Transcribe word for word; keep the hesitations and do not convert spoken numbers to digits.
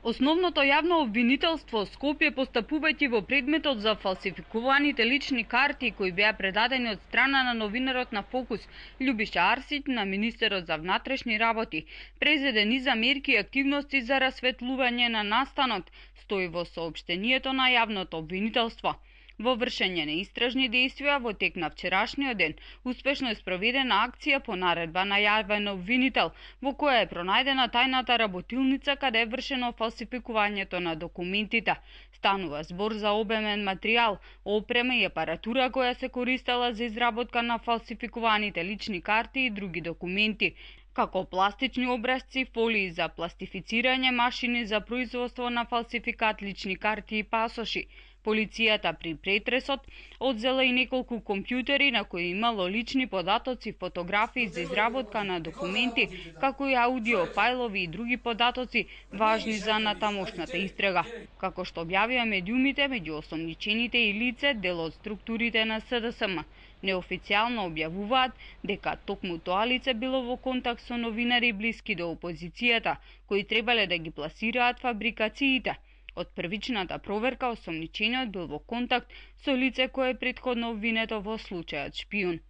Основното јавно обвинителство Скопје, постапувајќи во предметот за фалсификуваните лични карти кои беа предадени од страна на новинарот на Фокус Љубиша Арсиќ на министерот за внатрешни работи, презеде низ мерки и активности за расветлување на настанот, стои во соопштението на јавното обвинителство. Во вршење на истражни действија во тек на вчерашниот ден, успешно е спроведена акција по наредба на јавен обвинител, во која е пронајдена тајната работилница каде е вршено фалсификувањето на документите. Станува збор за обемен материјал, опрема и апаратура која се користела за изработка на фалсификуваните лични карти и други документи, како пластични образци, фолии за пластифицирање, машини за производство на фалсификат лични карти и пасоши. Полицијата при претресот одзела и неколку компјутери на кои имало лични податоци, фотографии за изработка на документи, како и аудио фајлови и други податоци важни за натамошната истрага. Како што објавија медиумите, меѓу осомничените и лице дел од структурите на С Д С М. Неофицијално објавуваат дека токму тоа лице било во контакт со новинари блиски до опозицијата, кои требале да ги пласираат фабрикациите. Од првичната проверка, осомничениот бил во контакт со лице кое е претходно обвинето во случајот шпион.